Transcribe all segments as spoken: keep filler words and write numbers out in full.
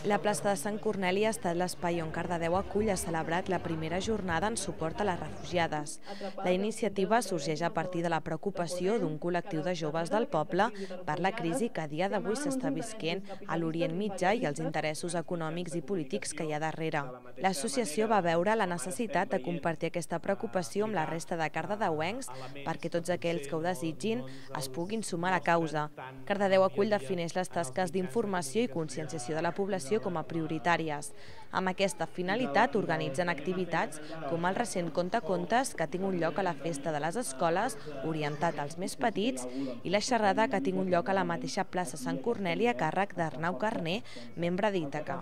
La plaça de Sant Corneli ha estat l'espai on Cardedeu acull ha celebrat la primera jornada en suport a les refugiades. La iniciativa sorgeix a partir de la preocupació d'un col·lectiu de joves del poble per la crisi que a dia d'avui s'està visquent a l'Orient Mitjà i els interessos econòmics i polítics que hi ha darrere. L'associació va veure la necessitat de compartir aquesta preocupació amb la resta de cardedeuencs perquè tots aquells que ho desitgin es puguin sumar a la causa. Cardedeu acull defineix les tasques d'informació i conscienciació de la població com a prioritàries. Amb aquesta finalitat organitzen activitats com el recent Contacontes que tinc un lloc a la festa de les escoles orientat als més petits i la xerrada que tinc un lloc a la mateixa plaça Sant Corneli a càrrec d'Arnau Carné, membre d'Ítaca.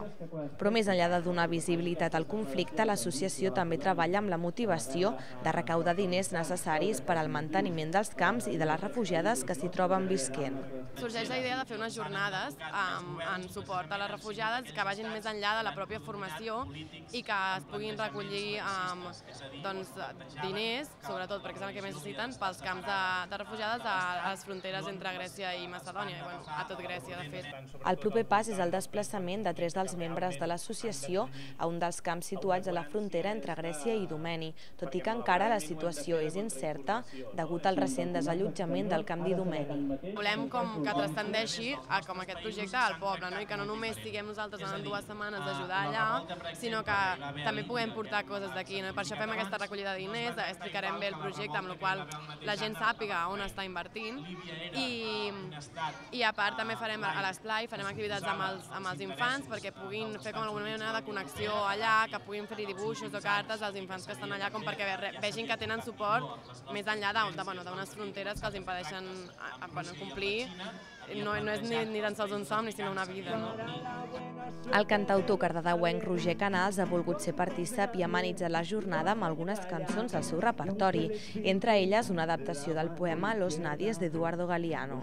Però més enllà de donar visibilitat al conflicte, l'associació també treballa amb la motivació de recaudar diners necessaris per al manteniment dels camps i de les refugiades que s'hi troben visquent. Sorgeix la idea de fer unes jornades en suport a les refugiades que vagin més enllà de la pròpia formació i que es puguin recollir diners, sobretot perquè és el que més necessiten, pels camps de refugiades a les fronteres entre Grècia i Macedònia, i a tot Grècia, de fet. El proper pas és el desplaçament de tres dels membres de l'associació a un dels camps situats a la frontera entre Grècia i Idomeni, tot i que encara la situació és incerta degut al recent desallotjament del camp d'Idomeni. Volem que transcendeixi com aquest projecte al poble, i que no només siguem nosaltres en dues setmanes d'ajudar allà, sinó que també puguem portar coses d'aquí. Per això fem aquesta recollida de diners, explicarem bé el projecte, amb la qual la gent sàpiga on està invertint, i a part també farem a l'esplai, farem activitats amb els infants perquè puguin fer com alguna mena de connexió allà, que puguin fer-hi dibuixos o cartes als infants que estan allà, com perquè vegin que tenen suport més enllà d'unes fronteres que els impedeixen complir. No és ni tan sols un somni, sinó una vida. El cantautor cardedeuenc Roger Canals ha volgut ser partícip i ha amenitzat la jornada amb algunes cançons del seu repertori, entre elles una adaptació del poema Los Nadies d'Eduardo Galeano.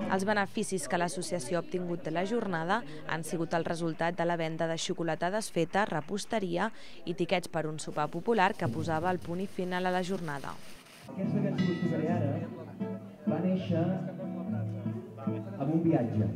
Els beneficis que l'associació ha obtingut de la jornada han sigut el resultat de la venda de xocolata desfeta, reposteria i tiquets per un sopar popular que posava el punt i final a la jornada. Aquesta cançó que us tocaré ara va néixer amb un viatge.